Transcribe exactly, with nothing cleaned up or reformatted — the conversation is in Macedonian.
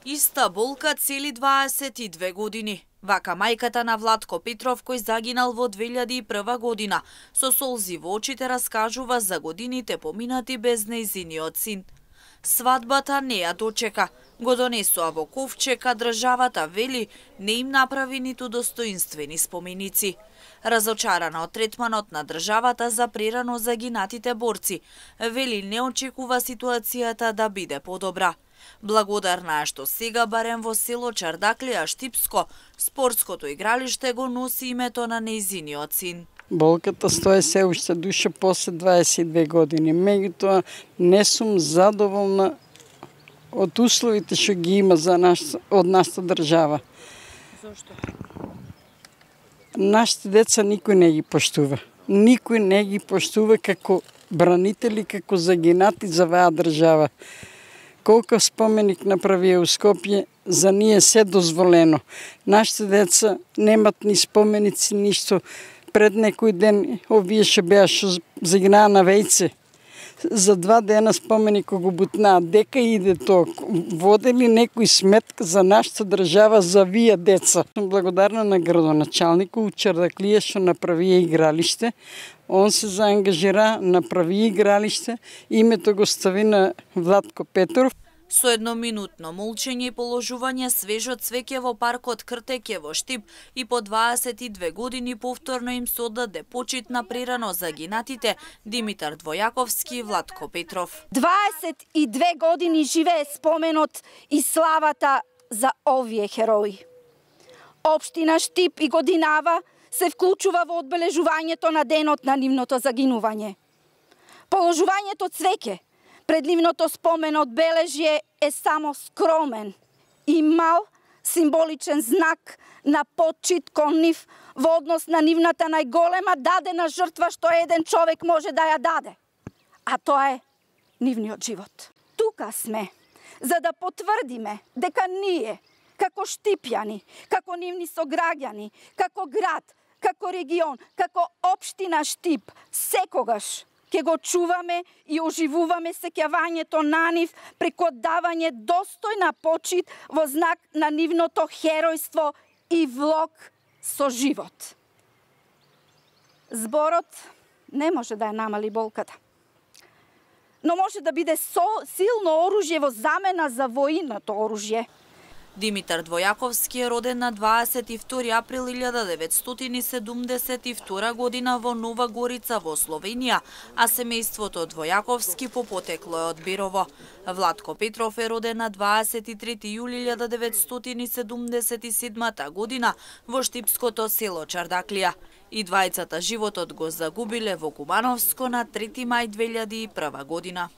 Иста болка цели дваесет и две години. Вака мајката на Владко Петров, кој загинал во две илјади и прва година, со солзи во очите раскажува за годините поминати без нејзиниот син. Свадбата не ја дочека, го донесоа во ковчег, а државата вели не им направи ниту достоинствени споменици. Разочарана од третманот на државата за прерано загинатите борци, вели не очекува ситуацијата да биде подобра. Благодарна е што сега барем во село Чардаклија, Штипско, спортското игралиште го носи името на нејзиниот син. Болката стои се уште душа после дваесет и две години. Меѓутоа не сум задоволна од условите што ги има за наш, од нашата држава. Зошто? Нашите деца никој не ги поштува. Никој не ги поштува како бранители, како загинати за оваа држава. Колку споменик направија у Скопје, за ние се дозволено. Нашите деца немат ни споменици, ништо. Пред некој ден овие што беа што загинаа на Вејце. За два дена споменик го бутнаа. Дека иде тоа? Воде ли некој сметка за нашата држава за вие деца? Сум благодарна на градоначалникот Чардаклија што направија игралиште. Он се заангажира, направи игралиште, името го стави на Владко Петров. Со едноминутно молчење и положување свежо цвеќе во паркот Кртеќе во Штип и по дваесет и две години повторно им се оддаде почит на прерано загинатите Димитар Двојаковски и Владко Петров. дваесет и две години живее споменот и славата за овие херои. Општина Штип и годинава се вклучува во одбележувањето на денот на нивното загинување. Положувањето цвеќе пред нивното спомен одбележје е само скромен и мал символичен знак на почит кон нив во однос на нивната најголема дадена жртва што еден човек може да ја даде, а тоа е нивниот живот. Тука сме за да потврдиме дека ние, како штипјани, како нивни сограѓани, како град, како регион, како општина Штип, секогаш ќе го чуваме и оживуваме сеќавањето на нив преку давање достојна почит во знак на нивното херојство и влог со живот. Зборот не може да ја намали болката, но може да биде со силно оружје во замена за воиното оружје. Димитар Двојаковски е роден на дваесет и втори април илјада деветстотини седумдесет и втора година во Нова Горица во Словенија, а семејството Двојаковски по потекло е од Бирово. Владко Петров е роден на дваесет и трети јули илјада деветстотини седумдесет и седма година во штипското село Чардаклија. И двајцата животот го загубиле во Кумановско на трети мај две илјади и прва година.